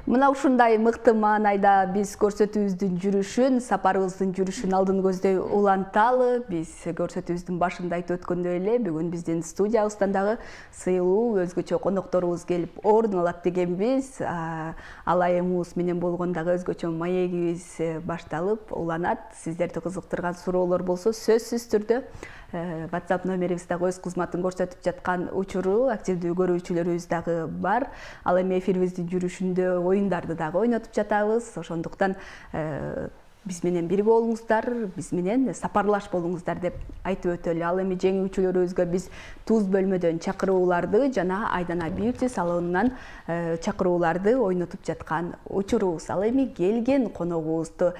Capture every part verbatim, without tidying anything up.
Мына ушундай мыкты маанайда биз көрсөтүүбүздүн жүрүшүн, сапарыбыздын жүрүшүн алдын көздөй уланталы. Биз көрсөтүүбүздүн башында айтып өткөндөй эле, бүгүн биздин студиябыздан дагы сыйлуу өзгөчө конокторубуз келип орун алат дегенбиз. Ал айымыбыз менен болгон дагы өзгөчө маегибиз башталып уланат. Сиздерди кызыктырган суроолор болсо сөзсүз түрдө WhatsApp номерибиздагы өз кызматын көрсөтүп жаткан учуру активдүү көрүүчүлөрүбүз дагы бар. Ал эми эфирибиздин жүрүшүндө оюндарды дагы ойнотуп жатабыз. Ошондуктан биз менен бир болуңуздар, биз менен сапарлаш болуңуздар деп айтып өтөлү. Ал эми жеңүүчүлөрүбүзгө биз туз бөлмөдөн чакырууларды жана Айдана Beauty салонунан чакырууларды ойнотуп жаткан учурубуз. Ал эми келген коногубузду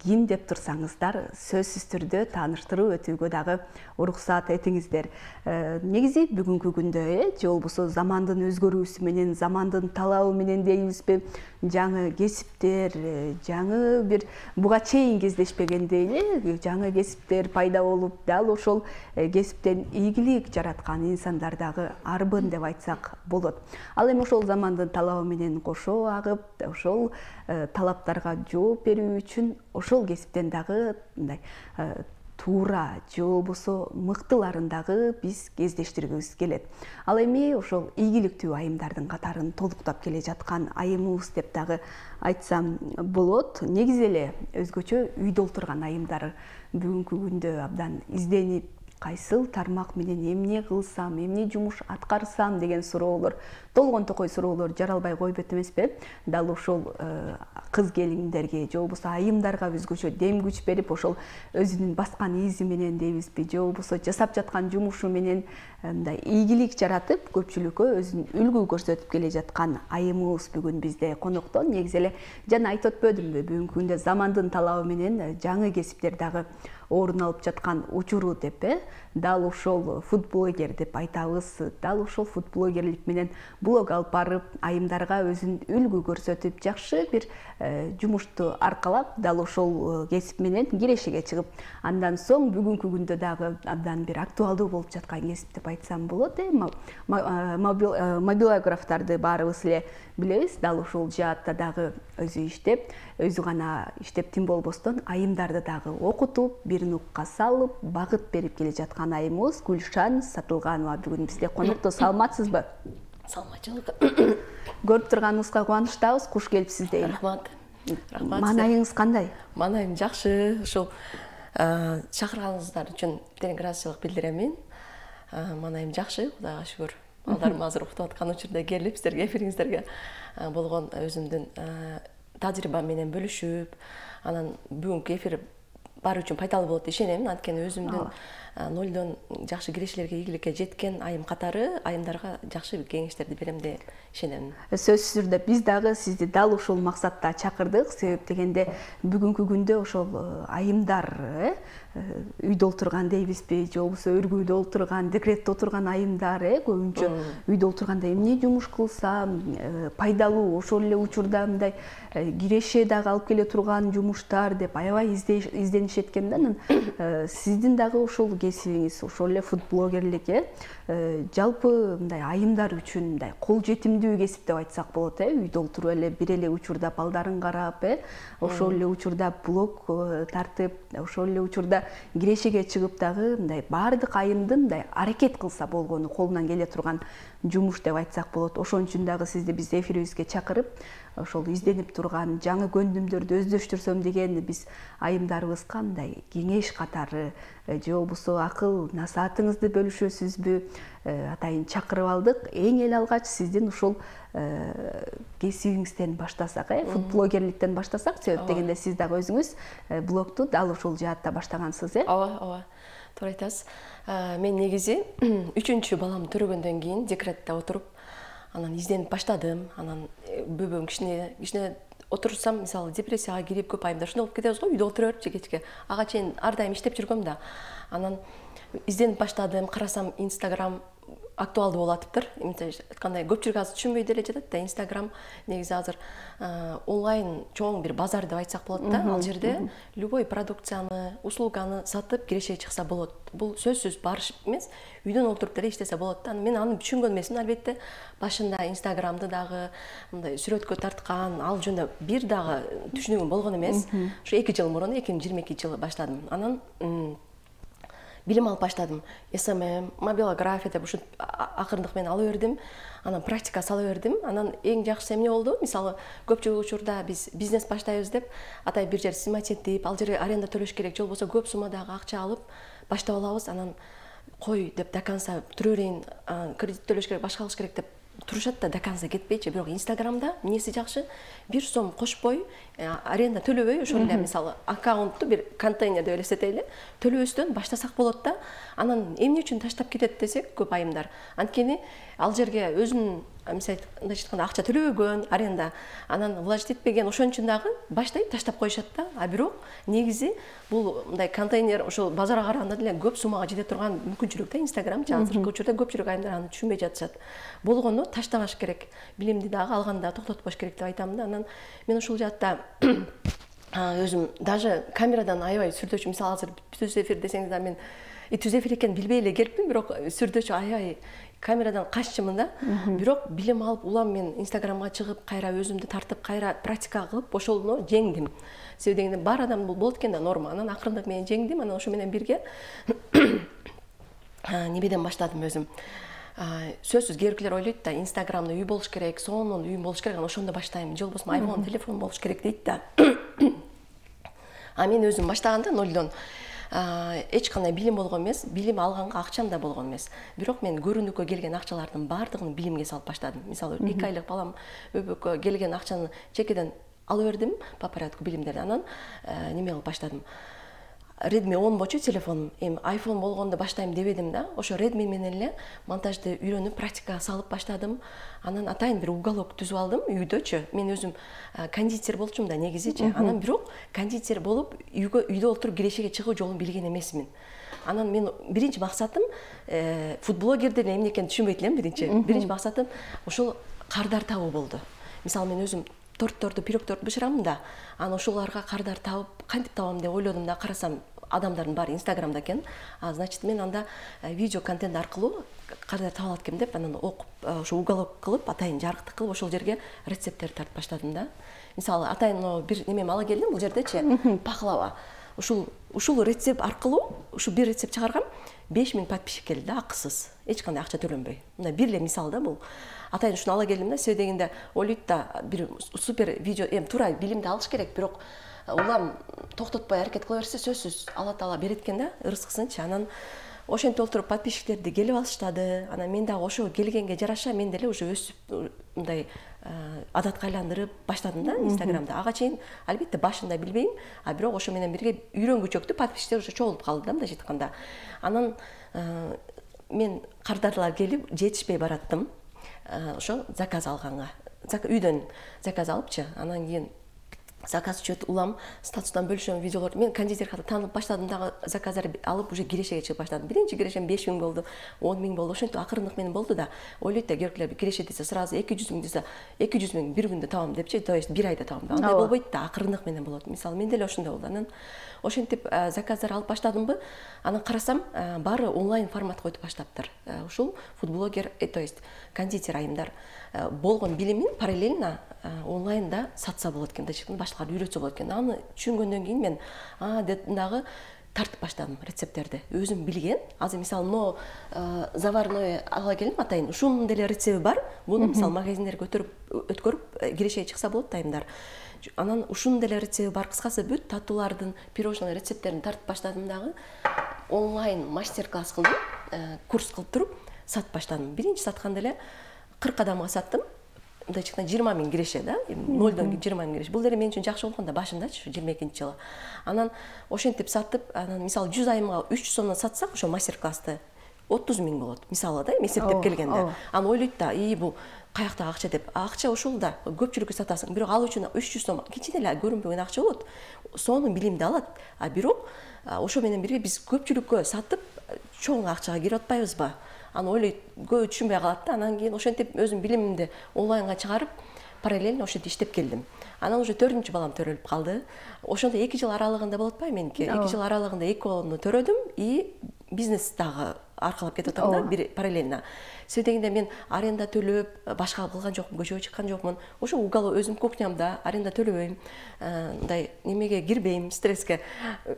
ким деп турсаңыздар, сөзсүз түрдө тааныштырып өтүүгө дагы уруксат этиңиздер. Негизи бүгүнкү күндө, э, же болбосо замандын өзгөрүүсү менен, замандын талабы менен дейбизби, жаңы кесиптер, жаңы бир буга чейин кездешпегендей эле жаңы кесиптер пайда болуп, дал ошол кесиптен ийгилик жараткан инсандар дагы арбын деп айтсак болот. Ал эми ошол замандын талабы менен кошо агып, ошол талаптарга жооп берүү үчүн ошол кесиптен дагы мындай туура же болбосо мыктыларын дагы биз кездештиргибиз келет. Ал эми ошол ийгиликтүү айымдардын катарын толуктап келе жаткан айымыбыз деп дагы айтсам болот. Негизи эле өзгөчө үйдө отурган айымдар бүгүнкү күндө абдан изденип, кайсыл тармак менен эмне кылсам, эмне жумуш аткарсам деген суроолор, толгон токой суроолор жаралбай койбойт эмеспи? Дал ошол кыз келиндерге же болбосо айымдарга өзгөчө дем күч берип, ошол өзүнүн баскан изи менен дейбизби, же болбосо жасап жаткан жумушу менен мындай ийгилик жаратып, көпчүлүккө өзүн үлгү көрсөтүп келе жаткан айымыбыз бүгүн бизде конокто. Негизи эле жана айтып өтпөдүмбү, бүгүнкү күндө замандын талабы менен жаңы кесиптер дагы орун алып жаткан учуру деп, э? Дал ошол фуд-блогер деп айтабыз. Дал ошол фуд-блогерлик менен блог алып барып, айымдарга өзүн үлгү көрсөтүп, жакшы бир жумушту аркалап, дал ошол кесип менен кирешеге чыгып, андан соң бүгүнкү күндө дагы абдан бир актуалдуу болуп жаткан кесип деп айтсам болот. Мобилографтарды баарыбыз эле билебиз. Дал ошол жаатта дагы өзү иштеп, өзү гана иштеп тим болбостон айымдарды дагы окутуп, бир нукка салып, багыт берип келе жаткан айымыбыз Гүлшан Сатылганова бүгүн бизде конокто. Саламатсызбы? Саламатчылык. Көрүп турганыбызга кубанычтабыз. Куш келипсиз дейм. Рахмат. Рахмат. Маанайыңыз кандай? Маанайым жакшы. Ушул чакырганыңыздар үчүн терең ыраазычылык билдирем. Маанайым жакшы, Кудайга шүгүр. Балдарым азыр уктап аткан учурда келип, сиздерге эфириңиздерге болгон өзүмдүн тажрыйбам менен бөлүшүп, анан бүгүнкү эфир баары үчүн пайдалуу болот деп ишенем. Анткени өзүмдүн нолдон жакшы кирешелерге, ийгиликке жеткен айым катары айымдарга жакшы кеңештерди берем деп ишенем. Сөзсүз түрдө биз дагы сизди дал ушул максатта чакырдык. Себеп дегенде бүгүнкү күндө ошол айымдар үйдө отурган дейбизби, же болбосо өргүүдө отурган, декретте отурган айымдар көбүнчө үйдө отурганда эмне жумуш кылсам пайдалуу, ошол эле учурда мындай киреше дагы алып келе турган жумуштар деп аябай изденишет экен да. Сиздин дагы ошол кесибиңиз, ошол эле фуд-блогерлик, жалпы мындай айымдар үчүн мындай кол жетимдүү кесип деп айтсак болот, э? Үйдө отуруп эле бир эле учурда балдарын карап, э? Ошол эле учурда блог тартып, ошол эле учурда кирешеге чыгып дагы мындай баардык айымдын мындай аракет кылса болгону колунан келе турган жумуш деп айтсак болот. Ошон үчүн дагы сизди биз эфирибизге чакырып, ошол изденип турган жаңы көндүмдөрдү өздөштүрсөм деген биз айымдарыбызга мындай кеңеш катары же болбосо акыл насаатыңызды бөлүшөсүзбү атайын чакырып алдык. Эң эле алгач сиздин ушул кесибиңизден баштасак, э, фуд-блогерликтен баштасак, себеп дегенде сиз дагы өзүңүз блогту дал ушул жаатта баштагансыз, э? Ооба, ооба. Туура айтасыз. Мен негизи үчүнчү баламды төрөгөндөн кийин декретте отуруп, анан изденип баштадым. Анан бөбөм кичине кичине отурсам, мисалы, депрессияга кирип, көп айымдар ушундай болуп кетебиз го, үйдө отура берип кечке. Ага чейин ар дайым иштеп жүргөм да. Анан изденип баштадым, карасам Instagram актуалдуу болуп атыптыр. Айткандай көпчүлүк азыр түшүнбөй деле жатат да, Инстаграм негизи азыр онлайн чоң бир базар деп айтсак болот да. Ал жерде любой продукцияны, услуганы сатып кирешеге чыкса болот. Бул сөзсүз барыш эмес, үйдөн отуруп деле иштесе болот да. Мен аны түшүнгөн эмесмин албетте. Башында Инстаграмды дагы мындай сүрөткө тарткан, ал жөнүндө бир дагы түшүнүгүм болгон эмес. Ушу эки жыл мурун, эки миң жыйырма экинчи жылы баштадым. Анан билим алып баштадым. эс эм эм, мобилография деп ушу акырындык менен ала бердим. Анан практика сала бердим. Анан эң жакшысы эмне болду? Мисалы, көпчүлүк учурда биз бизнес баштайбыз деп, атай бир жер сымат этип, ал жерге аренда төлөш керек, же болбосо көп суммадагы акча алып баштап алабыз. Анан кой деп до конца түрө берейин, кредит төлөш керек, башка кылыш керек деп турушат да, до конца кетпейчи. Бирок Инстаграмда эмнеси жакшы? бир сом кошпой, аренда төлөбөй, ошол эле мисалы аккаунтту бир контейнер деп элестетели, төлөбөстөн баштасак болот да. Анан эмне үчүн таштап кетет десек, көп айымдар. Анткени ал жерге өзүнүн мисалы айтканда акча төлөбөгөн, аренда, анан влажить этпеген, ошон үчүн дагы баштайт, таштап коюшат да. А бирок негизи бул мындай контейнер ошол базарга караганда деле көп суммага жете турган мүмкүнчүлүк да Инстаграм. Азыркы учурда көпчүлүк айымдар аны түшүнбөй жатышат. Болгону таштабаш керек. Билимди дагы алганда токтотпош керек деп айтам да. Анан мен ушул жаатта өзүм даже камерадан аябай сүрдөөчү. Мисалы азыр түз эфир десеңиз да, мен түз эфир экенин билбей эле келипмин, бирок сүрдөөчү, аябай камерадан каччымын да. Бирок билим алып, улам мен Инстаграмга чыгып, кайра өзүмдү тартып, кайра практика кылып, ошону жеңдим. Себеби дегенде бар адам бул болот экен да, норма. Анан акырындык менен жеңдим. Анан ошо менен бирге немеден баштадым өзүм. Сөзсүз кээбиркилер ойлойт да, Инстаграмда үй болуш керек, сонун үй болуш керек, анан ошондо баштайм. Же болбосо айфон, телефон болуш керек дейт да. А мен өзүм баштаганда нолдон эч кандай билим болгон эмес, билим алганга акчам да болгон эмес. Бирок мен көрүнүккө келген акчалардын баардыгын билимге салып баштадым. Мисалы, эки айлык балам өбөккө келген акчаны чекеден алып бердим по порядку билимдерди. Анан неме кылып баштадым. Redmi он болчу телефонум. Эми iPhone болгондо баштайм дебедим да. Ошо Redmi менен эле монтажды үйрөнүп, практикага салып баштадым. Анан атайын бир уголок түзүп алдым үйдөчү. Мен өзүм кондитер болчумун да негизичи. Анан бирок кондитер болуп үйгө үйдө отуруп кирешеге чыгуу жолун билген эмесмин. Анан мен биринчи максатым фудблогердер эмне экенин түшүнбөйт элем биринчи. Биринчи максатым ошол кардар табуу болду. Мисалы, мен өзүм тортторду, пирогторду бышырамын да. Анан ошолорго кардар табып, кантип табам деп ойлодум да, карасам адамдардын баары Инстаграмда экен. А значит, мен анда видео контент аркылуу кардар таба алат экенм деп, анан окуп, ошо уголок кылып, атайын жарыктык кылып, ошол жерге рецепттерди тартып баштадым да. Мисалы, атайын бир немем ала келдим, бул жердечи пахлава. Ушул ушул рецепт аркылуу, ушу бир рецепт чыгаргам, беш миң подписчик келди да, акысыз. Эч кандай акча төлөнбөй. Мындай бир эле мисал да бул. Атайын ушуну ала келдим да, себеби дегенде ойлойт да, бир супер видео, эми туура билимди алыш керек, бирок улам токтотпой аракет кыла берсе, сөзсүз Алла Таала берет экен да, ырыскысынчы. Анан ошентип отуруп подписчиктерди келип алыштады. Анан мен дагы ошо келгенге жараша мен деле уже өсүп мындай адатка айландырып баштадым да Инстаграмда. Ага чейин албетте башында билбейм, а бирок ошо менен бирге үйрөнгүчөктү, подписчиктер уже чогулуп калды да, мындайча айтканда. Анан мен кардарлар келип жетишпей бараттым. Ошо заказ алганга. Үйдөн заказ алыпчы, анан кийин заказ чөт улам статустан бөлүшөм видеолор. Мен кондитеркада таанылып баштадым дагы, заказдар алып уже кирешеге чыгып баштадым. Биринчи кирешем беш миң болду, он миң болду. Ошентип акырындык менен болду да. Ойлойт да, кээбиркилер киреше десе сразу эки жүз миң десе, эки жүз миң бир күндө табам депчи, то есть бир айда табам. Андай болбойт да, акырындык менен болот. Мисалы, мен деле ошондой болду. Анан ошентип заказдар алып баштадымбы, анан карасам, баары онлайн форматка өтүп баштаптыр. Ушул фудблогер, то есть кондитер айымдар болгон билимин параллельно онлайнда сатса болот экен, башкаларды үйрөтсө болот экен. Аны түшүнгөндөн кийин мен а дагы тартып баштадым рецепттерди. Өзүм билген. Азыр мисалы, но заварной ала келдим атайын. Ушунун деле рецепти бар. Буну мисалы магазиндерге өтөрүп өткөрүп кирешеге чыкса болот айымдар. Анан ушунун деле рецепти бар. Кыскасы бүт татуулардын, пирожный рецепттерин тартып баштадым дагы. Онлайн мастер-класс кылдым, курс кылып туруп сатып баштадым. Биринчи сатканда эле кырк адамга саттым. Мындайча айтканда жыйырма миң киреше да, нолдон жыйырма миң киреше. Бул деле мен үчүн жакшы болгон да, башындачы, жыйырма экинчи жылы. Анан ошентип сатып, анан мисалы жүз айымга үч жүз сомдон сатсак, ошо мастер-классты отуз миң болот. Мисалы да, эсептеп келгенде. Анан ойлойт да, и бул каяктагы акча деп. Акча ошол да, көпчүлүккө сатасың. Бирок ал үчүн үч жүз сом кичине эле көрүнбөгөн акча болот. Сонун билимди алат. А бирок ошо менен бирге биз көпчүлүккө сатып, чоң акчага кирип атпайбызбы? Аны ойлойт, көбү түшүнбөй калат да. Анан кийин ошентип өзүм билимимди онлайнга чыгарып, параллельно ошентип иштеп келдим. Анан уже төртүнчү балам төрөлүп калды. Ошондо эки жыл аралыгында болуп атпайбы меники? эки жыл аралыгында эки баламды төрөдүм и бизнес дагы аркалап кетип атам да, бир параллельно. Себеби дегенде мен аренда төлөп, башка кылган жокмун, көчөгө чыккан жокмун. Ошо угол өзүм кухнямда аренда төлөбөйм. Мындай немеге кирбейм, стресске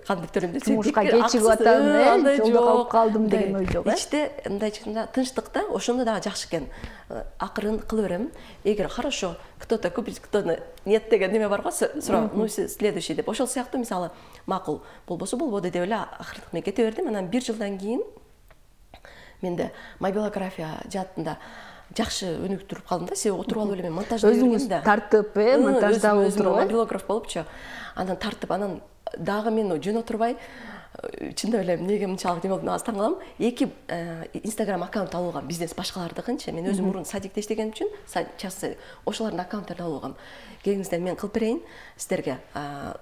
кантип төрөйм десе, жумушка кечигип атам, жолдо калып калдым деген ой жок. Ичте мындайча тынчтыкта ошондо дагы жакшы экен. Акырын кыла берем. Эгер хорошо, кто-то купит, кто-то нет деген неме бар го, суроо, ну следующий деп. Ошол сыяктуу мисалы, макул болбосо болбоду деп эле акыртык менен кете бердим. Анан бир жылдан кийин менде мобилография жаатында жакшы өнүктүрүп калдым да. Себеби отуруп алып эле мен монтажда өзүңүз тартып, э, монтажда отуруп, мобилограф болупчу. Анан тартып, анан дагы мен жөн отурбай, чындап эле эмнеге мынчалык неме болдум, аз таң калам. Эки Instagram аккаунт алып алгам, бизнес башкалардыкынчы. Мен өзүм мурун садикте иштегеним үчүн, частный ошолордун аккаунттарын алып алгам. Келиңиздер, мен кылып берейин сиздерге,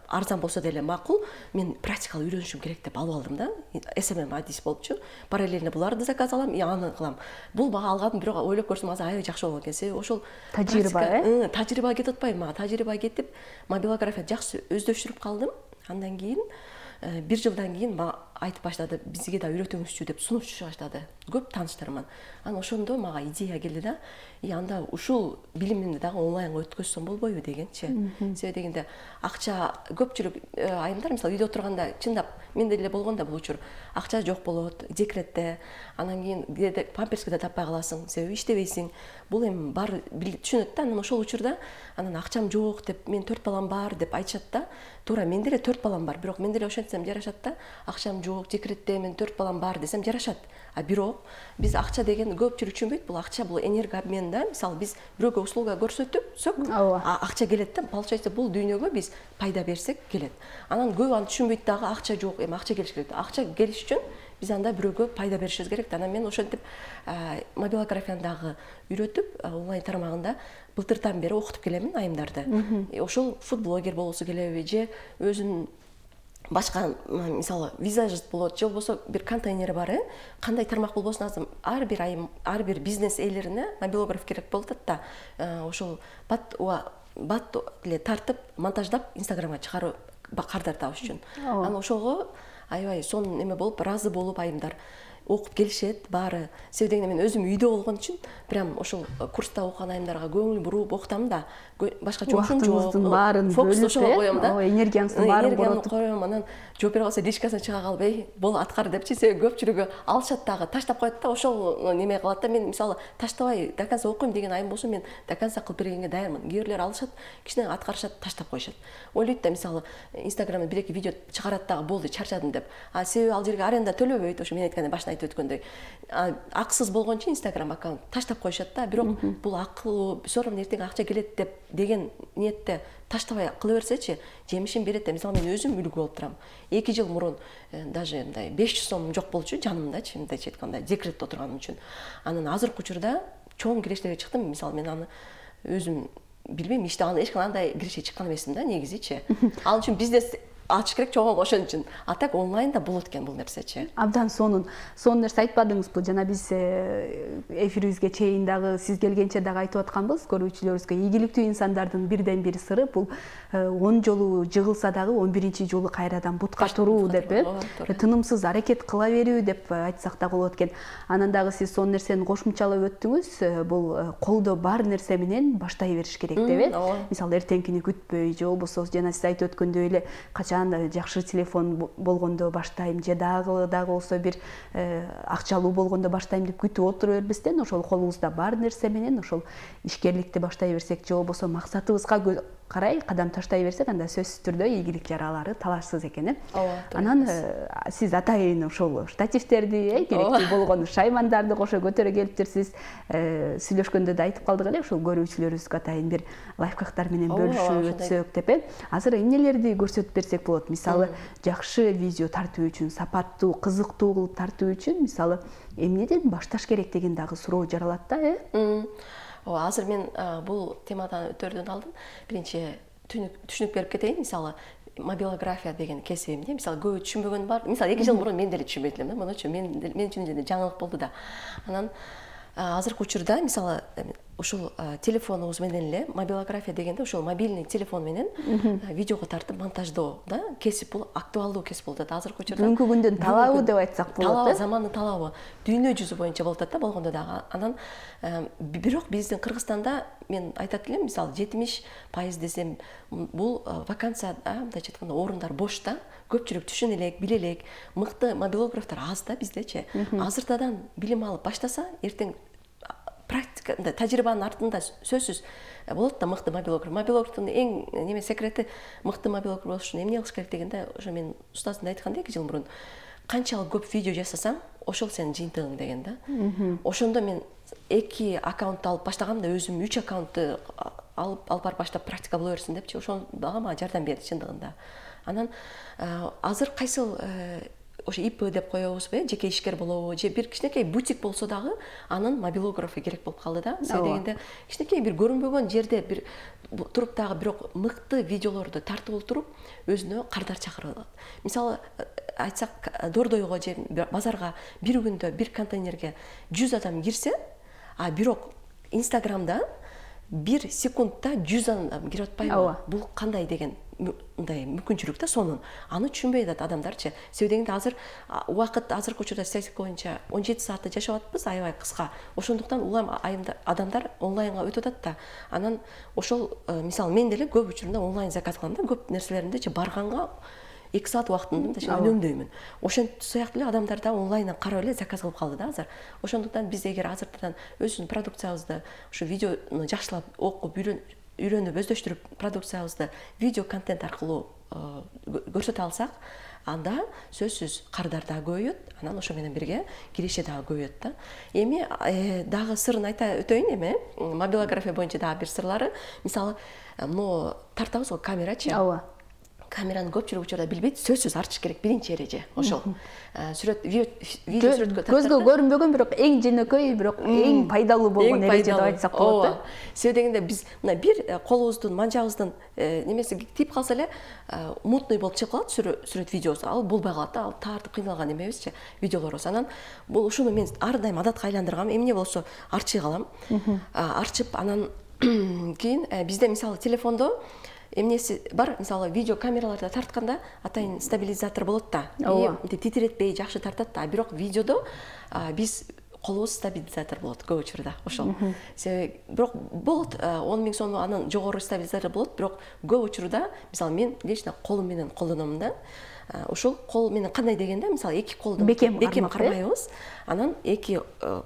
арзан болсо деле макул. Мен практикалык үйрөнүшүм керек деп алып алдым да. эс эм эм адис болупчу. Параллельно буларды заказ алам, и аны кылам. Бул бага алгадым, бирок ойлоп көрсөм азыр аябай жакшы болгон экен. Себеби ошол тажрыйба, э? Тажрыйба кетип атпайбы мага? Тажрыйба кетип, мобилография жакшы өздөштүрүп калдым. Андан кийин бир жылдан кийин мага айтып баштады, бизге да үйрөтүңүзчү деп сунуп түшө баштады. Көп тааныштарыман. Анан ошондо мага идея келди да, и анда ушул билимимди дагы онлайнга өткөзсөм болбойбу дегенчи. Себеби дегенде акча көпчүлүк айымдар мисалы үйдө отурганда чындап менде деле болгон да бул учур. Акча жок болот, декретте, анан кийин памперске да таппай каласың, себеби иштебейсиң. Бул эми бар түшүнөт да. Анан ошол учурда анан акчам жок деп, мен төрт балам бар деп айтышат да. Туура менде деле төрт балам бар, бирок мен деле ошентсем жарашат да. Акчам жок, декретте, мен төрт балам бар десем жарашат. А бирок биз акча деген көпчүлүк түшүнбөйт. Бул акча бул энергообмен да. Мисалы биз бирөөгө услуга көрсөтсөк, акча келет да. Получается бул дүйнөгө биз пайда берсек келет. Анан көп аны түшүнбөйт дагы, акча жок, эми акча келиш керек. Акча келиш үчүн биз анда бирөөгө пайда беришибиз керек. Анан мен ошентип мобилографияны дагы үйрөтүп, онлайн тармагында былтыртан бери окутуп келемин айымдарды. Ошол фудблогер болосу келеби же өзүнүн башка мисалы визажист болот же болбосо бир контейнери бар, э? Кандай тармак болбосун азыр ар бир айым, ар бир бизнес ээлерине мобилограф керек болуп атат да. Ошол бат бат эле тартып, монтаждап Инстаграмга чыгарып кардар табыш үчүн. Анан ошого аябай сонун эме болуп, разы болуп айымдар окуп келишет баары. Себеби дегенде мен өзүм үйдө болгон үчүн прям ошол курста окуган айымдарга көңүл буруп окутам да. Башка жокун жок. Баарын бөлүп коем да. Энергияңыздын баарын боротуп коем. Анан жооп бере калса личкасына чыга калып, эй, бол аткар депчи. Себеби көпчүлүгү алышат дагы, таштап коет да. Ошол неме кылат да. Мен мисалы таштабай до конца окуйм деген айым болсо, мен до конца кылып бергенге даярмын. Кээ бирлер алышат, кичине аткарышат, таштап коюшат. Ойлойт да, мисалы Инстаграмда бир эки видео чыгарат дагы, болду, чарчадым деп. А себеби ал жерге аренда төлөбөйт. Ошо мен айткандай башында айтып өткөндөй. Аксыз болгончу Инстаграм аккаунт таштап коюшат да. Бирок бул акылуу, соорон эртең акча келет деп деген ниетте таштабай кыла берсечи, жемишин берет деп. Мисалы мен өзүм үлгү болуп турам. эки жыл мурун даже мындай беш жүз сом жок болчу жанымдачы, мындайча айтканда, декретте отурганым үчүн. Анан азыркы учурда чоң кирештерге чыктым. Мисалы мен аны өзүм билбейм, иште аны эч кандай киреше чыккан эмесмин да, негизичи. Ал үчүн бизнес ачыш керек чоң ошон үчүн. А так онлайнда болот экен бул нерсечи. Абдан сонун. Сонун нерсе айтпадыңызбы? Жана биз эфирибизге чейин дагы сиз келгенче дагы айтып атканбыз, көрүүчүлөрүбүзгө ийгиликтүү инсандардын бирден бир сыры бул он жолу жыгылса дагы он биринчи жолу кайрадан бутка туруу деп, э? Тынымсыз аракет кыла берүү деп айтсак да болот экен. Анан дагы сиз сонун нерсени кошумчалап өттүңүз. Бул колдо бар нерсе менен баштай бериш керек деп, э? Мисалы эртеңкини күтпөй же болбосо жана сиз айтып өткөндөй эле качан жакшы телефон болгондо баштайм же дагы дагы болсо бир акчалуу болгондо баштайм деп күтүп отура бербестен, ошол колубузда бар нерсе менен ошол ишкерликти баштай берсек же болбосо максатыбызга карай кадам таштай берсек, анда сөзсүз түрдө ийгилик жаралары талашсыз экен, э? Анан сиз атайын ошол штативтерди, э, керектүү болгон шаймандарды кошо көтөрө келиптирсиз. Сүйлөшкөндө да айтып калдык эле, ошол көрүүчүлөрүбүзгө атайын бир лайфхактар менен бөлүшүп өтсөк деп, э? Азыр эмнелерди көрсөтүп берсек болот? Мисалы, жакшы видео тартуу үчүн, сапаттуу, кызыктуу кылып тартуу үчүн, мисалы, эмнеден башташ керек деген дагы суроо жаралат да, э? Азыр мен бул темадан өтөрдөн алдын биринчи түшүнүк берип кетейин. Мисалы, мобилография деген кесибимде мисалы көбү түшүнбөгөн бар. Мисалы эки жыл мурун мен деле түшүнбөйт элем да, мынучу мен мен үчүн жаңылык болду да. Анан азыркы учурда мисалы ушул телефонубуз менен эле мобилография дегенде ушул мобильный телефон менен видеого тартып монтаждоо да кесип, бул актуалдуу кесип болуп атат азыркы учурда. Бүгүнкү күндүн талабы деп айтсак болот. Талабы, замандын талабы дүйнө жүзү боюнча болуп атат да болгондо дагы. Анан бирок биздин Кыргызстанда мен айтат элем, мисалы жетимиш пайыз десем, бул вакансия, мындайча айтканда орундар бош да. Көпчүлүк түшүнө элек, биле элек, мыкты мобилографтар аз да биздечи. Азыртадан билим алып баштаса, эртең практика, тажрыйбанын артында сөзсүз болот да мыкты мобилограф. Мобилографтын эң неме секрети мыкты мобилограф болуш үчүн эмне кылыш керек дегенде, ошо мен устазым айткан да эки жыл мурун. Канчалык көп видео жасасаң, ошол сенин жыйынтыгың деген да. Ошондо мен эки аккаунт алып баштагам да, өзүм үч аккаунтты алып алып барып баштап практика боло берсин депчи. Ошол дагы мага жардам берди чындыгында. Анан азыр кайсыл ошо ИП деп коебузбу, жеке ишкер болобу, же бир кичинекей бутик болсо дагы анын мобилографы керек болуп калды да. Себеби дегенде кичинекей бир көрүнбөгөн жерде бир туруп дагы бирок мыкты видеолорду тартып олтуруп өзүнө кардар чакырып алат. Мисалы айтсак, Дордойго же базарга бир күндө бир контейнерге жүз адам кирсе, а бирок Инстаграмда бир секундта жүз адам кирип атпайбы? Бул кандай деген мындай мүмкүнчүлүк да сонун. Аны түшүнбөй атат адамдарчы. Себеби дегенде азыр убакыт азыркы учурда статистика боюнча он жети саатты жашап атпыз, аябай кыска. Ошондуктан улам адамдар онлайнга өтүп атат да. Анан ошол мисалы мен деле көп учурунда онлайн заказ кылам да, көп нерселеримдичи барганга эки саат убактымды үнөмдөймүн. Ошентип сыяктуу эле адамдар да онлайндан карап эле заказ кылып калды да азыр. Ошондуктан биз эгер азыртадан өзүбүздүн продукциябызды, ушу видеону жакшылап окуп, үйрөнүп, өздөштүрүп продукциябызды видео контент аркылуу көрсөтө алсак, анда сөзсүз кардар дагы көбөйөт, анан ошо менен бирге киреше дагы көбөйөт да. Эми дагы сырын айта өтөйүн эми, мобилография боюнча дагы бир сырлары, мисалы, мына тартабыз го камерачы. Ооба. Камераны көпчүлүк учурда билбейт, сөзсүз артыш керек, биринчи эреже ошол. Сүрөт, видео сүрөткө тартат. Көзгө көрүнбөгөн, бирок эң жөнөкөй, бирок эң пайдалуу болгон эреже деп айтсак болот да. Себеби дегенде биз мына бир колубуздун, манжабыздын немеси тип калса эле мутный болуп чыгып калат сүрөт видеосу. Ал болбой калат да, ал тартып кыйналган эмебизчи видеолорубуз. Анан бул ушуну мен ар дайым адатка айландыргам. Эмне болсо арчый калам. Арчып анан кийин бизде мисалы телефондо эмнеси бар, мисалы видео камераларда тартканда атайын стабилизатор болот да. Мынтип титиретпей жакшы тартат да, бирок видеодо биз колубуз стабилизатор болот көп учурда ошол. Себеби бирок болот он миң сом анын жогору стабилизатор болот, бирок көп учурда мисалы мен лично колум менен колдоном да. Ушул кол менен кандай дегенде, мисалы эки колду бекем кармайбыз, анан эки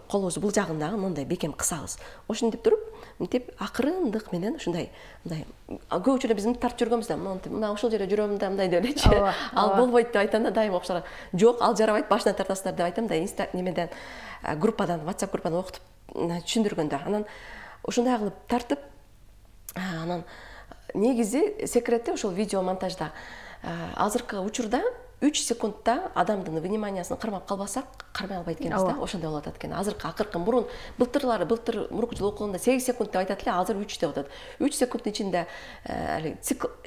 колубуз бул жагындагы мындай бекем кысабыз. Ошентип туруп, мынтип акырындык менен ушундай, мындай көп учурда биз мынтип тартып жүргөнбүз да, мына ошол жерде жүрөм да, мындай деп элечи. Ал болбойт деп айтам да, дайым окшор. Жок, ал жарабайт, башынан тартасыздар деп айтам да, инста немеден группадан, WhatsApp группадан окутуп түшүндүргөндө. Анан ушундай кылып тартып, анан негизи секрети ошол видео монтажда. Азыркы учурда үч секундта адамдын вниманиясын кармап калбасак, кармай албайт экенбиз да, ошондой болуп атат экен. Азыркы акыркы мурун былтырлары, былтыр мурунку жыл окуганда сегиз секунд деп айтат эле, азыр үч деп атат. үч секундтун ичинде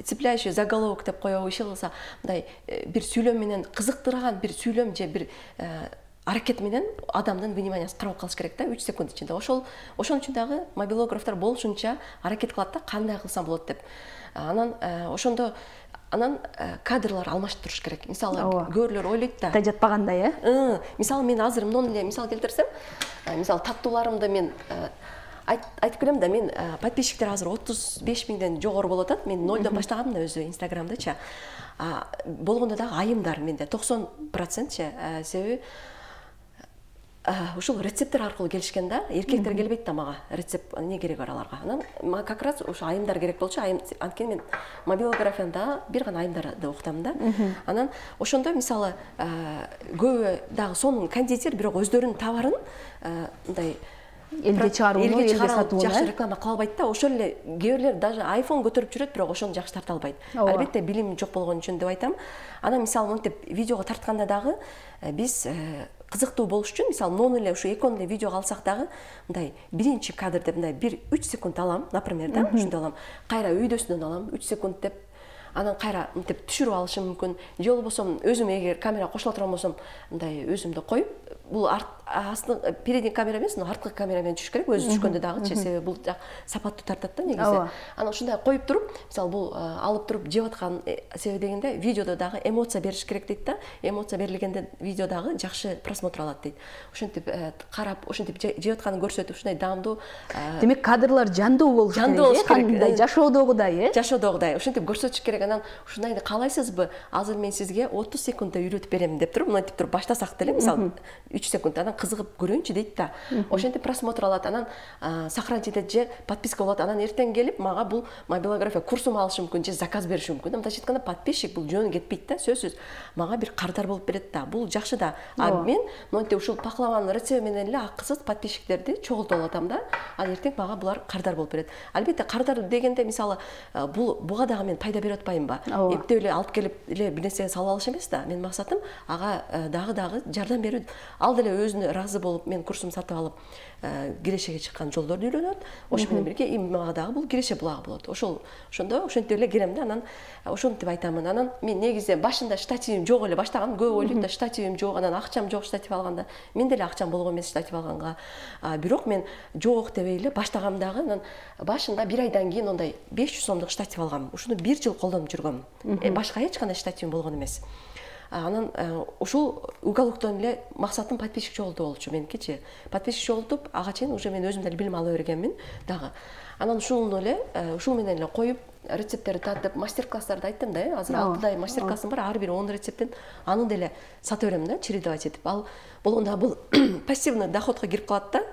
цепляющий заголовок деп коебу, иши кылса, мындай бир сүйлөм менен кызыктырган бир сүйлөм же бир аракет менен адамдын вниманиясын кармап калыш керек да, үч секунд ичинде. Ошол ошон үчүн дагы мобилографтар болушунча аракет кылат да, кандай кылсам болот деп. Анан ошондо анан кадрлар алмашып туруш керек. Мисалы, көбүлөр ойлойт да. Да жатпагандай, э? Мисалы мен азыр мындан эле мисал келтирсем, мисалы таттууларымды мен айтып келем да, мен подписчиктер азыр отуз беш миңден жогору болуп атат. Мен нолдон баштагам да өзү Инстаграмдачы. Болгондо дагы айымдар менде токсон процентчи, себеби ушул рецепттер аркылуу келишкен да, эркектер келбейт да мага. Рецепт эмне керек бар аларга? Анан мага как раз ошо айымдар керек болчу. Айым анткени мен мобилографияда бир гана айымдарды окутам да. Анан ошондо мисалы көбү дагы сонун кондитер, бирок өздөрүнүн товарын мындай элге чыгарууну, элге сатууну жакшы реклама кыла албайт да. Ошол эле кээ бирлер даже айфон көтөрүп жүрөт, бирок ошону жакшы тарта албайт. Албетте билим жок болгон үчүн деп айтам. Анан мисалы мынтип видеого тартканда дагы биз кызыктуу болуш үчүн, мисалы, нон эле ушу экон эле видеого алсак дагы, мындай биринчи кадр деп мындай бир үч секунд алам, например, да, ушундай алам. Кайра өйдөсүнөн алам үч секунд деп. анан кайра мынтип түшүрүп алышым мүмкүн, же болбосо өзүм эгер камера кошула турган болсом мындай өзүмдү коюп, бул астын передний камера эмес, арткы камера менен түшүш керек, өзү түшкөндө дагычы, себеби бул жак сапаттуу тартат да негизи. Анан ушундай коюп туруп, мисалы бул алып туруп жеп аткан себеби дегенде видеодо дагы эмоция бериш керек дейт да. Эмоция берилгенде видео дагы жакшы просмотр алат дейт. Ошентип карап, ошентип жеп атканын көрсөтүп, ушундай даамдуу. Демек кадрлар жандуу болуш керек. Жандуу болуш керек. Кандай жашоодогудай, э? Жашоодогудай. Ошентип көрсөтүш керек. Анан ушундайды каалайсызбы? Азыр мен сизге отуз секундда үйрөтүп берем деп туруп, мынтип туруп баштасак деле, мисалы үч секунд, анан кызыгып көрөйүнчү дейт да. Ошентип просмотр алат, анан сохранить этет же подписка болот. Анан эртең келип мага бул мобилография курсун алышы мүмкүн же заказ бериши мүмкүн. Мындайча айтканда подписчик бул жөн кетпейт да, сөзсүз. Мага бир кардар болуп берет да. Бул жакшы да. А мен монтип ушул пахлаванын рецепти менен эле акысыз подписчиктерди чогултуп атам да. Ал эртең мага булар кардар болуп берет. Албетте кардар дегенде мисалы бул буга дагы мен пайда берип атпаймынбы? Эптеп эле алып келип эле бир нерсеге салып алыш эмес да. Менин максатым ага дагы дагы жардам берүү. Ал деле өзүнө ыраазы болуп, мен курсум сатып алып, кирешеге чыккан жолдорду үйрөнөт. Ошо менен бирге мага дагы бул киреше булагы болот. Ошол ошондо ошентип эле келем да. Анан ошентип айтамын. Анан мен негизи башында штативим жок эле баштагам. Көп ойлойт да, штативим жок, анан акчам жок штатив алганда. Мен деле акчам болгон эмес штатив алганга. Бирок мен жок дебей эле баштагам дагы. Анан башында бир айдан кийин ондай беш жүз сомдук штатив алгам. Ушуну бир жыл колдонуп жүргөм. Башка эч кандай штативим болгон эмес. Анан ушул уголоктон эле максатым подписчик жогултуу болчу меникичи. Подписчик жогултуп, ага чейин уже мен өзүм деле билим ала бергенмин дагы. Анан ушуну эле, ушул менен эле коюп, рецепттерди татып, мастер-класстарды айттым да, азыр алтыдай мастер-классым бар, ар бир он рецептин, аны деле сатып берем да, чередовать этип. Ал болгондо бул пассивный доходко кирип калат да.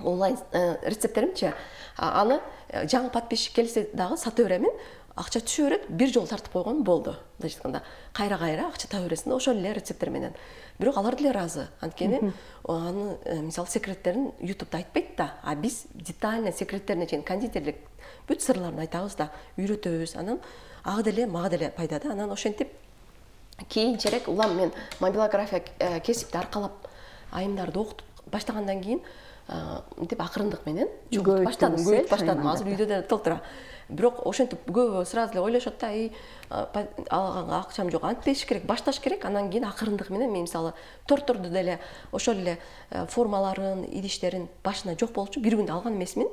Онлайн рецепттеримчи, аны жаңы подписчик келсе дагы сатып беремин. Акча түшө берет, бир жол тартып койгон болду. Мындайча айтканда, кайра-кайра акча таба бересиң да, ошол эле рецепттер менен. Бирок алар деле ыраазы. Анткени аны мисалы секреттерин ютубта айтпайт да, а биз детально секреттерине чейин кондитерлик бүт сырларын айтабыз да, үйрөтөбүз. Анан ага деле мага деле пайда да. Анан ошентип кийинчерээк улам мен мобилография кесипти аркалап айымдарды окутуп баштагандан кийин мынтип акырындык менен жоготуп баштадым, көбөйтүп баштадым. Азыр үйдө деле толтура. Бирок ошентип көбү сразу эле ойлошот да, эй, алганга акчам жок, антпеш керек, башташ керек. Анан кийин акырындык менен мен мисалы тортторду деле ошол эле формаларын, идиштерин башына жок болчу, бир күндө алган эмесмин.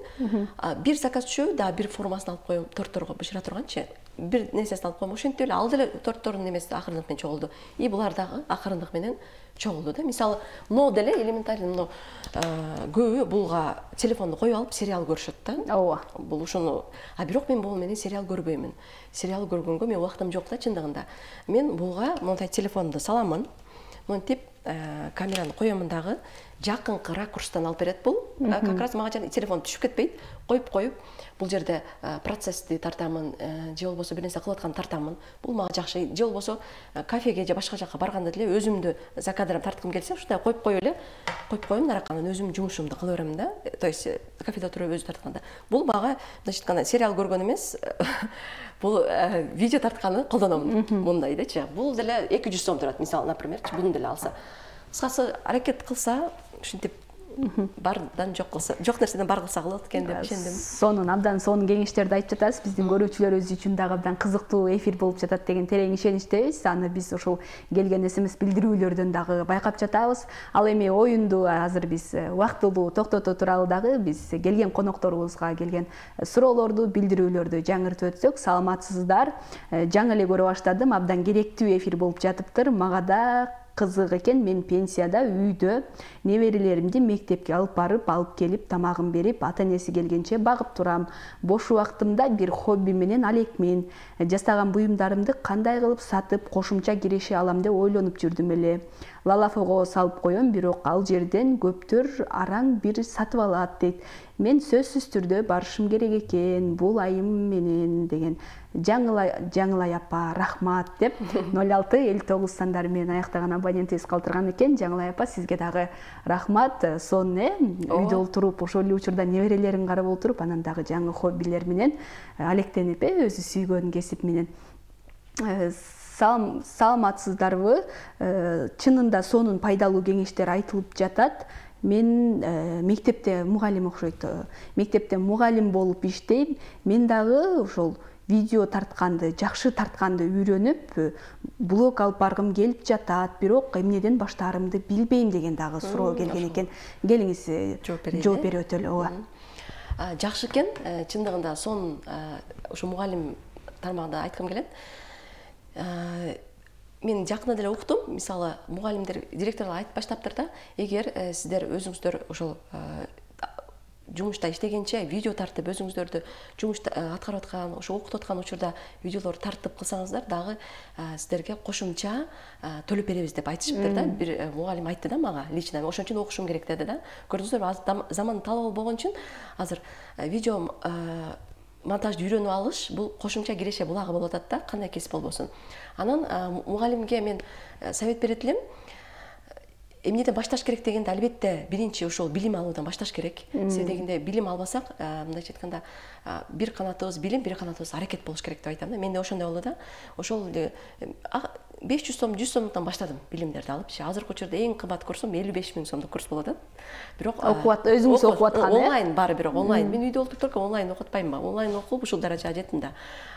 Бир заказ түшөбү, да бир формасын алып коем, торттторго бышыра турганчы. Бир нерсесин алып коем. Ошентип эле ал деле торттордун немеси акырындык менен чогулду. И булар дагы акырындык менен чогулду да. Мисалы, но деле элементарный, но көбү булга телефонду коюп алып сериал көрүшөт да. Ооба. Бул ушуну, а бирок мен бул менен сериал көрбөймүн. Сериал көргөнгө мен убактым жок да чындыгында. Мен булга мондай телефонду саламын. Монтип камераны коемун дагы, жакынкы ракурстан алып берет бул. Как раз мага жана телефон түшүп кетпейт. Коюп-коюп, бул жерде процессти тартамын, же болбосо бир нерсе кылып атканды тартамын. Бул мага жакшы. Же болбосо кафеге же башка жакка барганда деле өзүмдү за кадрым тарткым келсе, ушундай коюп коюп эле, коюп коем наракка, анан өзүм жумушумду кыла берем да. То есть кафеде отуруп өзү тартканда. Бул мага, мындайча айтканда, сериал көргөн эмес, бул видео тартканы колдономун. Мындайдачы. Бул деле эки жүз сом турат, мисалы, например, буну деле алса. Кыскасы аракет кылса, ушинтип бардан жок кылса, жок нерседен бар кылса кылат экен деп ишендим. Сонун абдан сонун кеңештерди айтып жатасыз. Биздин көрүүчүлөрүбүз үчүн дагы абдан кызыктуу эфир болуп жатат деген терең ишеничтебиз. Аны биз ошол келген эс эм эс билдирүүлөрдөн дагы байкап жатабыз. Ал эми оюнду азыр биз убактылуу токтото туралы дагы биз келген конокторубузга келген суроолорду, билдирүүлөрдү жаңыртып өтсөк, саламатсыздар. Жаңы эле көрө баштадым, абдан керектүү эфир болуп жатыптыр. Мага да кызык экен. Мен пенсияда үйдө неберелеримди мектепке алып барып, алып келип, тамагын берип, ата энеси келгенче багып турам. Бош убактымда бир хобби менен алекмин. Жасаган буюмдарымды кандай кылып сатып, кошумча киреше алам деп ойлонуп жүрдүм эле. Лалафого салып коем, бирок ал жерден көптөр араң бир сатып алат дейт. Мен сөзсүз түрдө барышым керек экен, бул айым менен деген. Жаңылай, жаңылай апа, рахмат деп ноль алты элүү тогуз сандары менен аяктаган абонентибиз калтырган экен. Жаңылай апа, сизге дагы рахмат. Сонун э, үйдө олтуруп, ошол эле учурда неберелерин карап олтуруп, анан дагы жаңы хоббилер менен алектенип, э, өзү сүйгөн кесип менен. Саламатсыздарбы? Чынында сонун пайдалуу кеңештер айтылып жатат. Мен мектепте мугалим окшойт. Мектепте мугалим болуп иштейм. Мен дагы ошол видео тартканды, жакшы тартканды үйрөнүп, блог алып баргым келип жатат, бирок эмнеден баштаарымды билбейм деген дагы суроо келген экен. Келиңиз жооп берип өтөлү. Ооба. Жакшы экен. Чындыгында сонун ушу мугалим тармагында айткым келет. Мен жакында деле уктум, мисалы, мугалимдер, директорлор айтып баштаптыр да, эгер сиздер өзүңүздөр ошол жумушта иштегенче видео тартып өзүңүздөрдү жумушта аткарып аткан, ошо окутуп аткан учурда видеолор тартып кылсаңыздар дагы сиздерге кошумча төлөп беребиз деп айтышыптыр да. Бир мугалим айтты да мага лично. Ошон үчүн окушум керек деди да. Көрдүңүздөр, заман талабы болгон үчүн азыр видео монтажды үйрөнүп алыш бул кошумча киреше булагы болуп атат да, кандай кесип болбосун. Анан мугалимге мен совет берет элем. Эмнеден башташ керек дегенде, албетте биринчи ошол билим алуудан башташ керек. Себеби дегенде билим албасак, мындайча айтканда, бир канатыбыз билим, бир канатыбыз аракет болуш керек деп айтам да. Менде ошондой болду да. Ошол беш жүз сом, жүз сомдон баштадым билимдерди алыпчы. Азыркы учурда эң кымбат курсум элүү беш миң сомдук курс болуп атат. Бирок окуп өзүңүз окуп аткан, э? Онлайн баары бирок онлайн. Мен үйдө отуруп только онлайн окуп атпаймынбы? Онлайн окуп ушул даражага жеттим да.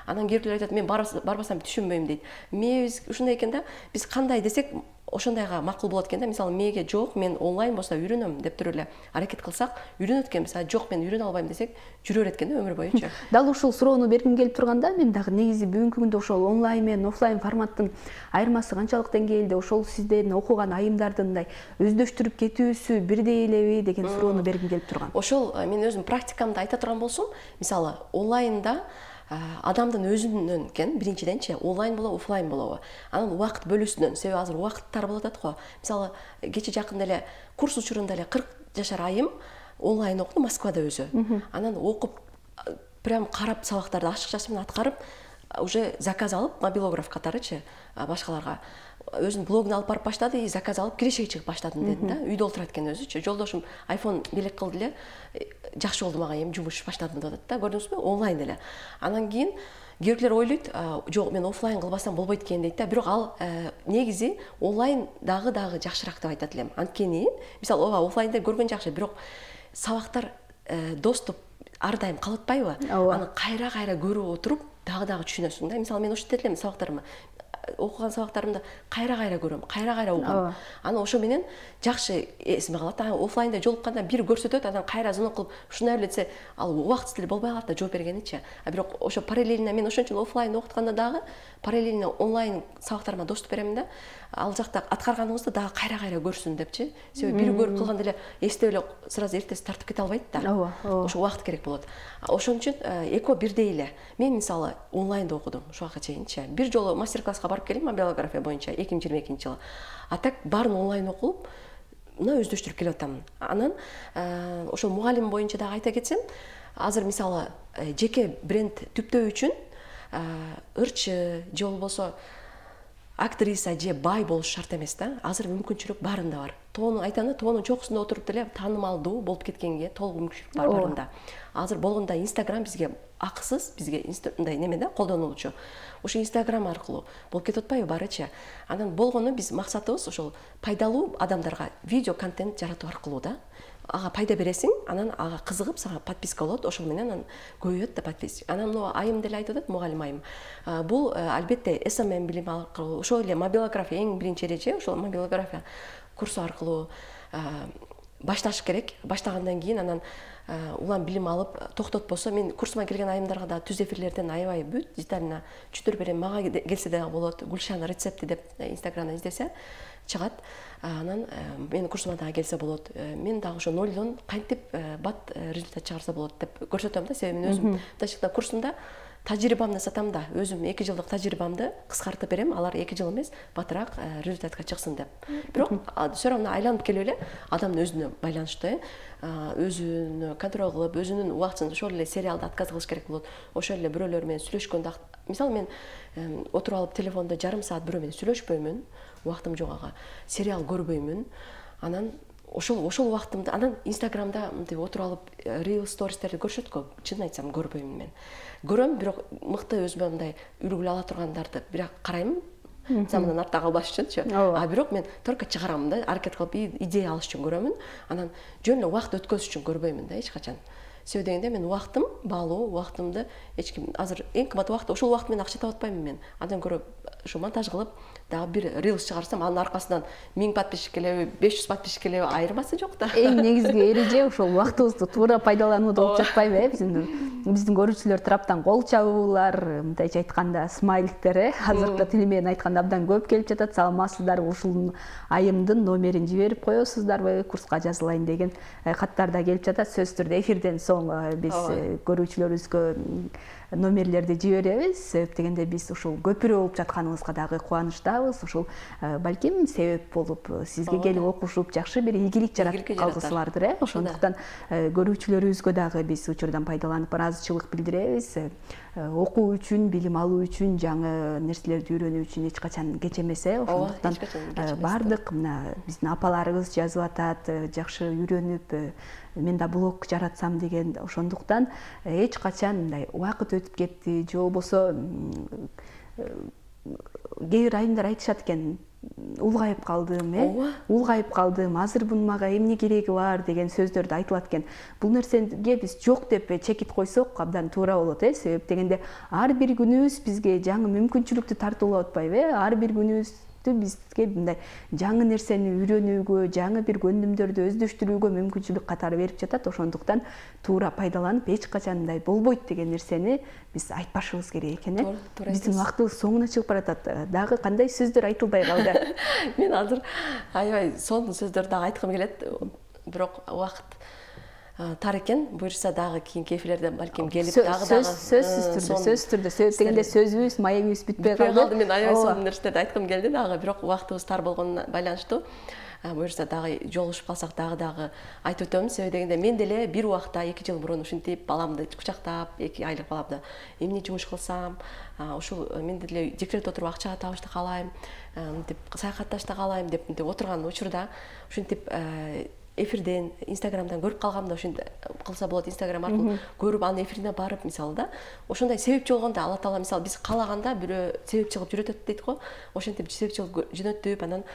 Анан кээбирлер айтат, мен барбасам түшүнбөйм дейт. Мебиз ушундай экен да. Биз кандай десек ошондайга макул болот экен да. Мисалы, меге жок, мен онлайн болсо үйрөнөм деп туруп эле аракет кылсак, үйрөнөт экенбиз. А жок, мен үйрөнө албайм десек, жүрө берет экен да өмүр боюнча. Дал ушул суроону бергим келип турганда, мен дагы негизи бүгүнкү күндө ошол онлайн менен офлайн форматтын айырмасы канчалык деңгээлде, ошол сиздердин окуган айымдардын мындай өздөштүрүп кетүүсү бирдей элеби деген суроону бергим келип турган. Ошол мен өзүм практикамды айта турган болсом, мисалы, онлайнда адамдын өзүнөн экен, биринчиденчи, онлайн болобу, офлайн болобу. Анан убакыт бөлүүсүнөн, себеби азыр убакыттар болуп атат го. Мисалы, кече жакында эле курс учурунда эле кырк жашар айым онлайн окуду Москвада өзү. Анан окуп, прям карап сабактарды ашыкчасы менен аткарып, уже заказ алып, мобилограф катарычы башкаларга өзүнүн блогун алып барып баштады, и заказ алып кирешеге чыгып баштадым деди да. Үйдө отурат экен өзүчү. Жолдошум айфон белек кылды эле, жакшы болду мага, эми жумуш баштадым деп атат да. Көрдүңүзбү? Онлайн эле. Анан кийин кээбирлер ойлойт, жок, мен офлайн кылбасам болбойт экен дейт да. Бирок ал негизи онлайн дагы дагы жакшыраак деп айтат элем. Анткени, мисалы, ооба, офлайнда көргөн жакшы, бирок сабактар доступ ар дайым калып атпайбы? Аны кайра-кайра көрүп отуруп дагы дагы түшүнөсүң да. Мисалы, мен ошентет элем сабактарымды. Окуган сабактарымды кайра-кайра көрөм, кайра-кайра угам. Аны ошо менен жакшы эсиме калат. Офлайнда жолукканда бир көрсөтөт, анан кайра звонок кылып, ушундай эле ал убакыт деле болбой калат да жооп бергеничи. А бирок ошо параллельно мен ошон үчүн офлайн окутканда дагы параллельно онлайн сабактарыма доступ берем да. Ал жакта аткарганыңызды дагы кайра-кайра көрсүн депчи. Себеби бир көрүп калганда эле эстеп эле сразу эртеси тартып кете албайт да. Ооба, ооба. Ошо убакыт керек болот. Ошон үчүн экөө бирдей эле. Мен мисалы онлайнда окудум ушуга чейинчи. Бир жолу мастер-класска барып келем мобилография боюнча эки миң жыйырма экинчи жылы. А так баарын онлайн окуп, мына өздөштүрүп келип атам. Анан ошол мугалим боюнча дагы айта кетсем, азыр мисалы жеке бренд түптөө үчүн ырчы же болбосо актриса же бай болуш шарт эмес да. Азыр мүмкүнчүлүк баарында бар. Тоонун айтаны, тоонун чокусунда отуруп деле таанымалдуу болуп кеткенге толук мүмкүнчүлүк бар баарында. Азыр болгондо Instagram бизге акысыз, бизге мындай неме да, колдонулчу. Ошо Instagram аркылуу болуп кетип атпайбы барычы. Анан болгону биз максатыбыз ошол пайдалуу адамдарга видео контент жаратуу аркылуу да. Ага пайда бересиң, анан ага кызыгып, сага подписка болот, ошол менен анан көбөйөт да подписчик. Анан мына айым деле айтып атат, мугалим айым. Бул албетте эс эм эм билим аркылуу, ошол эле мобилография эң биринчи эреже, ошол мобилография курсу аркылуу башташ керек. Баштагандан кийин анан улам билим алып токтотпосо, мен курсума келген айымдарга да түз эфирлерден аябай бүт деталына түшүндүрүп берем. Мага келсе дагы болот. Гүлшан рецепти деп Инстаграмда издесе чыгат. Анан менин курсума дагы келсе болот. Мен дагы ошо нолдон кантип бат результат чыгарса болот деп көрсөтөм да. Себеби мен өзүм ташыкта курсумда тажрыйбамды сатам да, өзүм эки жылдык тажрыйбамды кыскартып берем, алар эки жыл эмес, батыраак результатка чыксын деп. Бирок все равно айланып келип эле адамдын өзүнө байланыштуу, өзүнө контроль кылып, өзүнүн убактысын ошол эле сериалды отказ кылыш керек болот. Ошол эле бирөөлөр менен сүйлөшкөндө, мисалы мен отуруп алып телефондо жарым саат бирөө менен сүйлөшпөймүн, убактым жок ага. Сериал көрбөймүн. Анан ошол ошол убактымды анан Инстаграмда мынтип отуруп алып рил стористерди көрүшөт го. Чынын айтсам көрбөймүн мен. Көрөм, бирок мыкты өзүмө мындай үлгү ала тургандарды бирок карайм. Замандан артта калбаш үчүнчү. А бирок мен только чыгарам да, аракет кылып идея алыш үчүн көрөмүн. Анан жөн эле убакыт өткөзүш үчүн көрбөймүн да эч качан. себеби дегенде мен убактым баалуу, убактымды эч ким азыр эң кымбат убакыт ошол убакыт менен акча таап атпаймын мен. Андан көрө ушу монтаж кылып дагы бир рилс чыгарсам, анын аркасынан миң подписчик келеби, беш жүз подписчик келеби айырмасы жок да. Эң негизги эреже ошол убактыбызды туура пайдаланууда болуп жатпайбы, э? Биздин биздин көрүүчүлөр тараптан кол чабуулар, мындайча айтканда смайликтер, э? Азыркы тили менен айтканда абдан көп келип жатат. Саламатсыздарбы, ушул айымдын номерин жиберип коесуздарбы, курска жазылайын деген каттар да келип жатат. Сөзсүз түрдө эфирден соң биз көрүүчүлөрүбүзгө номерлерди жиберебиз. Себеп дегенде биз ушул көпүрө болуп жатканыбызга дагы кубанычтабыз. Ушул балким себеп болуп сизге келип окушуп жакшы бир ийгилик жаратып калгысылардыр, э? Ошондуктан көрүүчүлөрүбүзгө дагы биз учурдан пайдаланып ыраазычылык билдиребиз. Окуу үчүн, билим алуу үчүн, жаңы нерселерди үйрөнүү үчүн эч качан кеч эмес, э? Ошондуктан бардык мына биздин апаларыбыз жазып атат, жакшы үйрөнүп, мен да блог жаратсам деген. Ошондуктан эч качан мындай убакыт өтүп кетти же болбосо кээ бир айымдар айтышат экен, улгайып калдым, э? Улгайып калдым, азыр бунун мага эмне кереги бар деген сөздөрдү айтылат экен. Бул нерсеге биз жок деп чекит койсок абдан туура болот, э? Себеп дегенде ар бир күнүбүз бизге жаңы мүмкүнчүлүктү тартуулап атпайбы, э? Ар бир күнүбүз бизге мындай жаңы нерсени үйрөнүүгө, жаңы бир көндүмдөрдү өздөштүрүүгө мүмкүнчүлүк катары берип жатат. Ошондуктан туура пайдаланып, эч качан мындай болбойт деген нерсени биз айтпашыбыз керек экен, э? Биздин убактыбыз соңуна чыгып баратат. Дагы кандай сөздөр айтылбай калды? Мен азыр аябай сонун сөздөр дагы айткым келет, бирок убакыт тар экен. Буюрса дагы кийинки эфирлерде балким келип дагы дагы сөзсүз түрдө, сөзсүз түрдө. Себеп дегенде сөзүбүз, маегибиз бүтпөй калды. Мен аябай сонун нерселерди айткым келди дагы, бирок убактыбыз тар болгонуна байланыштуу. Буюрса дагы жолугушуп калсак дагы дагы айтып өтөмүн. Себеби дегенде мен деле бир убакта эки жыл мурун ушинтип баламды кучактап, эки айлык баламды эмне жумуш кылсам, ушул мен деле декретте отуруп акча табышты каалайм, мынтип саякатташты каалайм деп мынтип отурган учурда ушинтип эфирден, инстаграмдан көрүп калгамда, ошентип кылса болот, инстаграм аркылуу көрүп анын эфирине барып, мисалы да, ошондой себепчи болгондо Алла Таала мисалы биз каалаганда бирөө себепчи кылып жөнөтөт дейт го. Ошентип себепчи кылып жөнөтүп, анан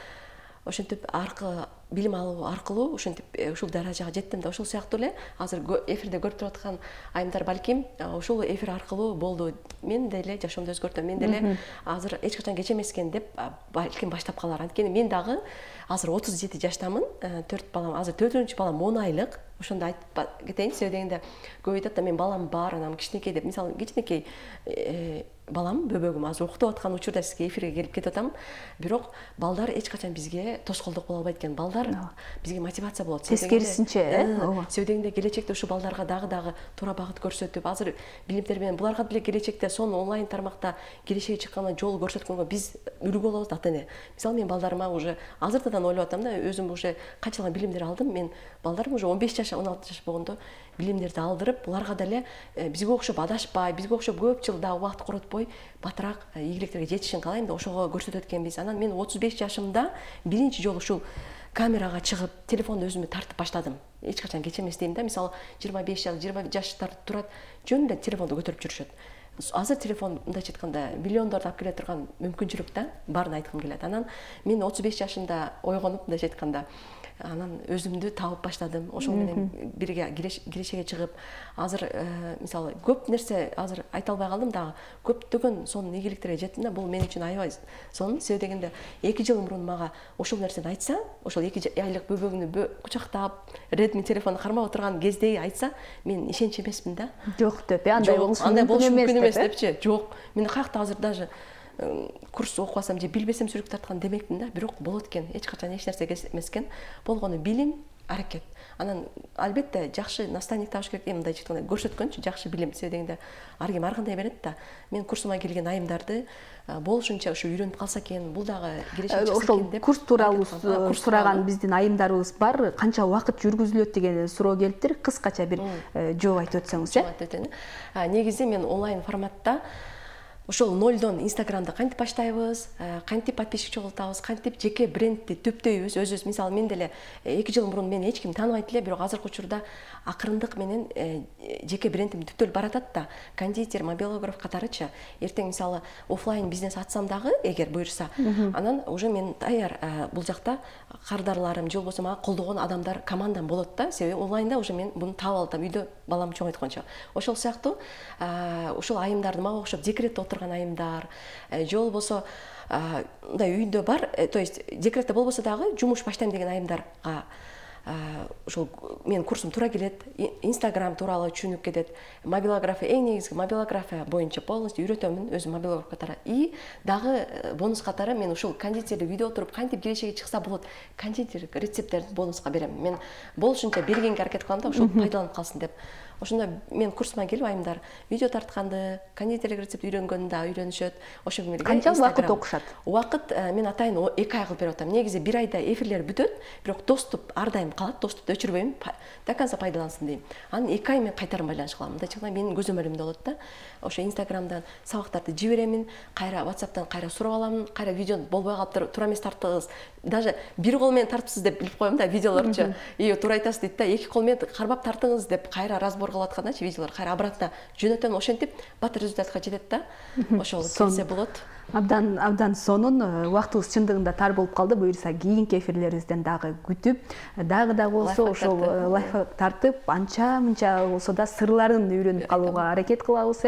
ошентип аркы билим алуу аркылуу ушинтип ушул даражага жеттим да. Ошол сыяктуу эле азыр эфирде көрүп туруп аткан айымдар балким ушул эфир аркылуу болду, мен деле жашоомду өзгөртөм, мен деле азыр эч качан кеч эмес экен деп балким баштап калар. Анткени мен дагы азыр отуз жети жаштамын, төрт балам, азыр төртүнчү балам он айлык. Ошондо айтып кетейин, себеби дегенде көп айтат да, мен балам бар, анан кичинекей деп. Мисалы кичинекей балам, бөбөгүм азыр уктап аткан учурда сизге эфирге келип кетип атам. Бирок балдар эч качан бизге тоскоолдук боло албайт экен. Балдар бизге мотивация болот. Тескерисинче, э? Себеби дегенде келечекте ушу балдарга дагы дагы туура багыт көрсөтүп, азыр билимдер менен буларга деле келечекте сонун онлайн тармакта келешеги чыкканда жол көрсөткөнгө биз үлгү болобуз, ата-эне. Мисалы мен балдарыма уже азыртадан ойлоп атам да, өзүм уже канчалаган билимдер алдым. Мен балдарым уже он беш жаш, он алты жаш болгондо билимдерди алдырып, буларга деле бизге окшоп адашпай, бизге окшоп көп жыл да убакыт коротпой батыраак ийгиликтерге жетишин каалайм да, ошого көрсөтөт экенбиз. Анан мен отуз беш жашымда биринчи жолу ушул камерага чыгып, телефонду өзүмө тартып баштадым. Эч качан кеч эмес дейм да. Мисалы жыйырма беш жаш, жыйырма жаштар турат, жөн эле телефонду көтөрүп жүрүшөт. Азыр телефон мындайча айтканда миллиондорду алып келе турган мүмкүнчүлүк да, барын айткым келет. Анан мен отуз беш жашымда ойгонуп, мындайча айтканда, анан өзүмдү табып баштадым. Ошол менен бирге кирешеге чыгып, азыр мисалы көп нерсе азыр айта албай калдым дагы. Көптөгөн сонун ийгиликтерге жеттим да. Бул мен үчүн аябай сонун. Себеби дегенде эки жыл мурун мага ошол нерсени айтса, ошол эки айлык бөбөгүнү кучактап, Redmi телефонду кармап отурган кезде айтса, мен ишенч эмесмин да. Жок деп, андай болушу мүмкүн эмес депчи. Жок. Мен каякта азыр даже курс окубасам же билбесем сүрүк тарткан демекмин да. Бирок болот экен. Эч качан эч нерсе эмес экен. Болгону билим, аракет. Анан албетте жакшы наставник табыш керек. Мындайча айтканда көрсөткөнчү жакшы билим. Себеби дегенде ар ким ар кандай берет да. Мен курсума келген айымдарды болушунча ушу үйрөнүп калса экен, бул дагы келечек чыкса экен деп. Ошол курс тууралуу сураган биздин айымдарыбыз бар. Канча убакыт жүргүзүлөт деген суроо келиптир. Кыскача бир жооп айтып өтсөңүз, э? Негизи мен онлайн форматта ошол нолдон Инстаграмды кантип баштайбыз, кантип подписчик чогултабыз, кантип жеке брендти түптөйбүз өзүбүз. Мисалы мен деле эки жыл мурун мени эч ким тааныбайт эле, бирок азыркы учурда акырындык менен жеке брендим түптөлүп баратат да. Кондитер, мобилограф катарычы. Эртең мисалы офлайн бизнес ачсам дагы, эгер буюрса, анан уже мен даяр бул жакта кардарларым же болбосо мага колдогон адамдар командам болот да. Себеби онлайнда уже мен буну таап алам, үйдө балам чоңойткончо. Ошол сыяктуу ушул айымдарды мага окшоп декретте отурган айымдар, же болбосо мындай үйдө бар, то есть декретте болбосо дагы жумуш баштайм деген айымдарга ошол менин курсум туура келет. Инстаграм тууралуу түшүнүп кетет. Мобилография, эң негизги мобилография боюнча полностью үйрөтөмүн өзүм мобилограф катары. И дагы бонус катары мен ушул кондитерди үйдө отуруп кантип кирешеге чыкса болот, кондитер рецепттерди бонуска берем. Мен болушунча бергенге аракет кылам да, ошол пайдаланып калсын деп. Ошондо мен курсума келип айымдар видео тартканды, кондитерлик рецепт үйрөнгөндү да үйрөнүшөт. Ошо менен канча убакыт окушат? Убакыт мен атайын эки ай кылып берип атам. Негизи бир айда эфирлер бүтөт, бирок доступ ар дайым калат, доступты өчүрбөйм, до конца пайдалансын дейм. Анан эки ай мен кайтарым байланыш кылам. Мындайча айтканда менин көзөмөлүмдө болот да. Ошо Инстаграмдан сабактарды жиберемин, кайра WhatsApp'тан кайра сурап аламын, кайра видео болбой калыптыр, туура эмес тарттыңыз. Даже бир кол менен тартыпсыз деп билип коем да, видеолорчу. И туура айтасыз дейт да, эки кол менен кармап тартыңыз деп кайра разбор кылып аткандачы видеолор кайра обратно жөнөтөм. Ошентип бат результатка жетет да. Ошол келсе болот. Абдан абдан сонун. Убактыбыз чындыгында тар болуп калды. Буюрса кийинки эфирлерибизден дагы күтүп, дагы да болсо ошол лайфхак тартып, анча мынча болсо да сырларын үйрөнүп калууга аракет кылабыз.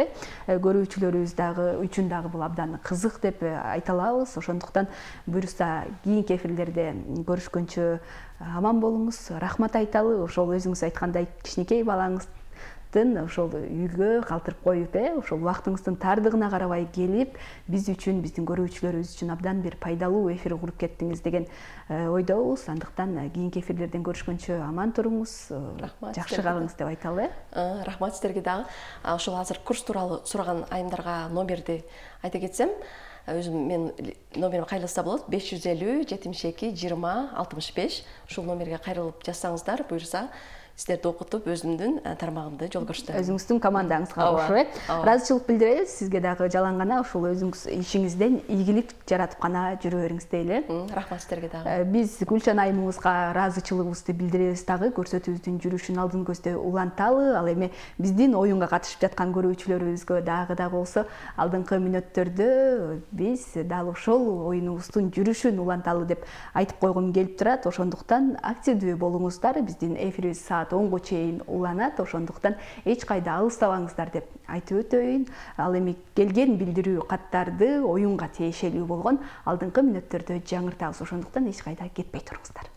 Көрүүчүлөрүбүз дагы үчүн дагы бул абдан кызык деп айта алабыз. Ошондуктан буюрса кийинки эфирлерде көрүшкөнчө аман болуңуз. Рахмат айталы. Ошол өзүңүз айткандай кичинекей балаңыз ошол үйгө калтырып коюп, ошол убактыңыздын тардыгына карабай келип, биз үчүн, биздин көрүүчүлөрүбүз үчүн абдан бир пайдалуу эфир куруп кеттиңиз деген ойдобуз. Андыктан кийинки эфирлерден көрүшкөнчө аман туруңуз, жакшы калыңыз деп айталы. Рахмат сиздерге дагы. Ошол азыр курс тууралуу сураган айымдарга номерди айта кетсем, өзүм мен номерим кайрылса болот, беш жүз элүү жетимиш эки жыйырма алтымыш беш. Ушул номерге кайрылып жазсаңыздар, буюрса сиздерди окутуп өзүмдүн тармагымды жол көрсөтөм. Өзүңүздүн командаңызга кошуп, ыраазычылык билдиребиз. Сизге дагы жалаң гана ушул өзүңүз ишиңизден ийгилик жаратып гана жүрө бериңиз дейли. Рахмат сиздерге дагы. Биз Гүлчан айымыбызга ыраазычылыгыбызды билдиребиз дагы. Көрсөтүүбүздүн жүрүшүн алдын көздөй уланталы. Ал эми биздин оюнга катышып жаткан көрүүчүлөрүбүзгө дагы да болсо алдыңкы мүнөттөрдө биз дал ошол оюнубуздун жүрүшүн уланталы деп айтып койгум келип турат. Ошондуктан активдүү болуңуздар. Биздин эфирибиз саат онго чейин уланат. Ошондуктан эч кайда алыстабаңыздар деп айтып өтөйүн. Ал эми келген билдирүү каттарды оюнга тиешелүү болгон алдыңкы мүнөттөрдө жаңыртабыз. Ошондуктан эч кайда кетпей туруңуздар.